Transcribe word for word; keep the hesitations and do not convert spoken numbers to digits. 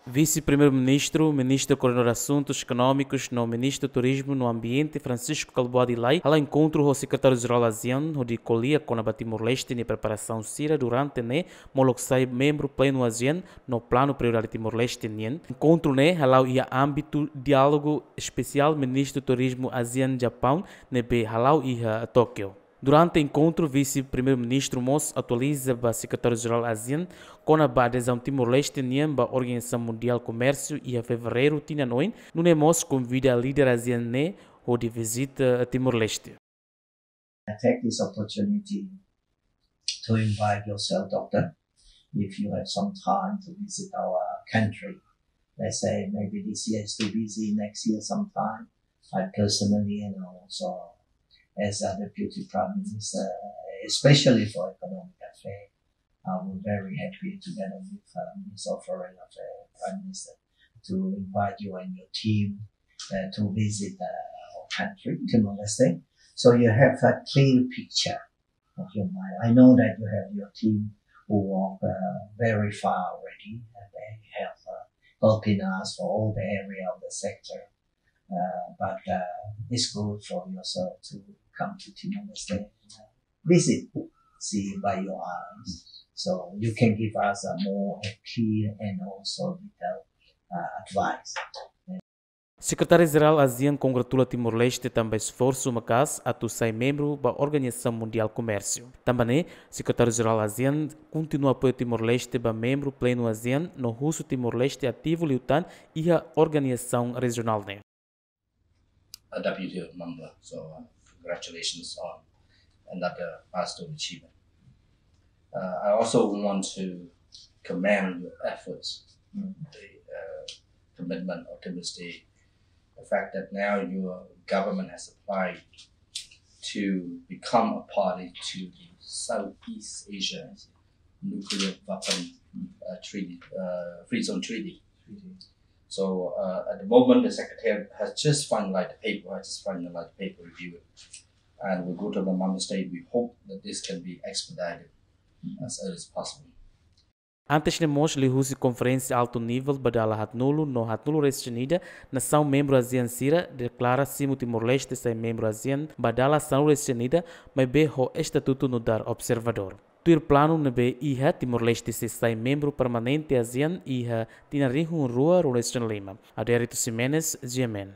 Vise-Primeiru-Ministru, Ministru Koordenadór Asuntus Ekonómikus no Ministru Turizmu no Ambiente, Francisco Kalbuadi Lay, hala'o enkontru ho Sekretáriu-Jerál ASEAN, hodi ko'alia kona-ba Timor-Leste nia preparasaun sira durante ne'e molok sai membru plenu ASEAN no planu prioridade Timor-Leste nian. Enkontru ne'e hala'o iha ámbitu diálogu espesiál Ministru Turizmu ASEAN Japaun ne'ebé hala'o iha Tókiu. Durante enkontru, Vise-Primeiru-Ministru mós atualiza ba Sekretáriu-Jerál ASEAN kona-ba adezaun Timor-Leste nian ba Organizasaun Mundiál Komérsiu iha Fevereiru tinan oin, nune'e mós konvida líder ASEAN ne'e hodi vizita Timor-Leste. I take this opportunity to invite yourself, Doctor, if you have some time to visit our country. Let's say maybe this year is too busy, next year sometime. I personally and also as a Deputy Prime Minister, especially for Economic Affairs, I was very happy together with uh, Minister of Foreign Affairs, Prime Minister, to invite you and your team uh, to visit uh, our country, Timor-Leste. So you have a clear picture of your mind. I know that you have your team who work uh, very far already, and they have uh, helping us for all the area of the sector. Uh, but uh, it's good for yourself to come to Timor-Leste and uh, visit, see by your eyes. So you can give us a more a clear and also detailed uh, advice. Sekretáriu-Jerál ASEAN kongratula Timor-Leste tanba esforsu maka'as atu sai membru ba Organizasaun Mundiál Komérsiu. Tanba ne'e, Sekretáriu-Jerál ASEAN kontinua apoia Timor-Leste ba membru plenu ASEAN no husu Timor-Leste ativu liután iha organizasaun rejionál ne'e. A W T O member, so uh, congratulations on another milestone achievement. Uh, I also want to commend your efforts, the uh, commitment of Timor State, the fact that now your government has applied to become a party to the Southeast Asia Nuclear Weapon uh, Treaty, uh, Free Zone Treaty. So uh, at the moment, the secretary has just finalized the paper, has just finalized the paper review, and we go to the member state. We hope that this can be expedited as early as possible. Antes ne'e mós liuhusi konferénsia altu nivel ba dala haatnulu no haatnulu resin ida, nasaun membru ASEAN sira deklara simu Timor-Leste sai membru ASEAN ba dala sanulu resin ida, maibé ho estatutu nu'udar observadór. Tuir planu ne'ebé iha, Timor-Leste sei sai membru permanente ASEAN iha tinan rihun rua ruanulu resin lima. Adérito Ximenes, G M N.